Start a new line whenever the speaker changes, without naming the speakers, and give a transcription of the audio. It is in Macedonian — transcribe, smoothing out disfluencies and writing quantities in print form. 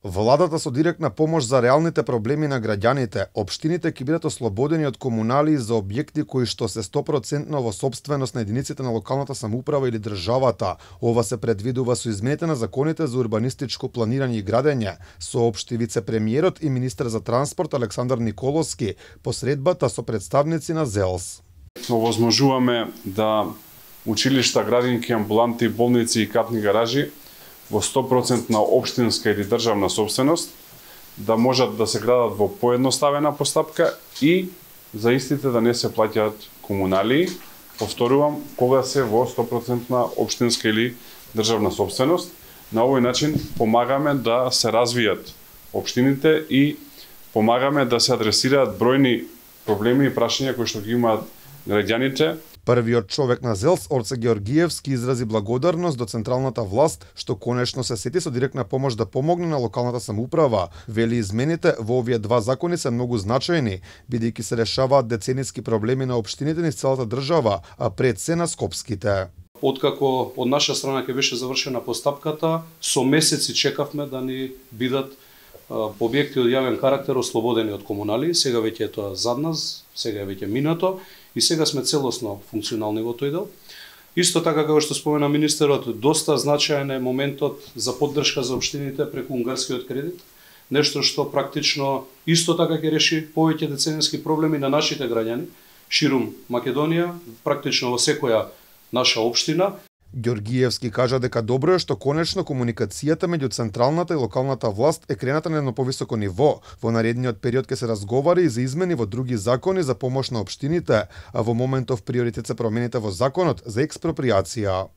Владата со директна помош за реалните проблеми на граѓаните, општините ќе бидат ослободени од комуналии за објекти кои што се 100% во сопственост на единиците на локалната самоуправа или државата. Ова се предвидува со измените на законите за урбанистичко планирање и градење, соопшти вице-премиерот и министер за транспорт Александар Николовски по средбата со представници на ЗЕЛС.
Овозможуваме да училишта, градинки, амбуланти, болници и катни гаражи во 100% на општинска или државна собственост, да можат да се градат во поедноставена постапка и за истите да не се плаќаат комуналии. Повторувам, кога се во 100% на општинска или државна собственост. На овој начин помагаме да се развијат општините и помагаме да се адресираат бројни проблеми и прашања кои што ги имаат граѓаните.
Првиот човек на ЗЕЛС, Орце Георгиевски, изрази благодарност до централната власт што конечно се сети со директна помош да помогне на локалната самоуправа. Вели измените во овие два закони се многу значајни, бидејќи се решаваат децениски проблеми на општините низ целата држава, а пред се на скопските.
Откако од наша страна ќе беше завршена постапката, со месеци чекавме да ни бидат објекти од јавен карактер ослободени од комуналии. Сега веќе е тоа зад нас, сега е веќе минато и сега сме целосно функционални во тој дел. Исто така, како што спомена министерот, доста значаен е моментот за поддршка за општините преку унгарскиот кредит. Нешто што практично исто така ќе реши повеќе децениски проблеми на нашите граѓани ширум Македонија, практично во секоја наша општина.
Георгиевски кажа дека добро е што конечно комуникацијата меѓу централната и локалната власт е крената на едно повисоко ниво. Во наредниот период ќе се разговара и за измени во други закони за помош на општините, а во моментов приоритет се промените во законот за експроприација.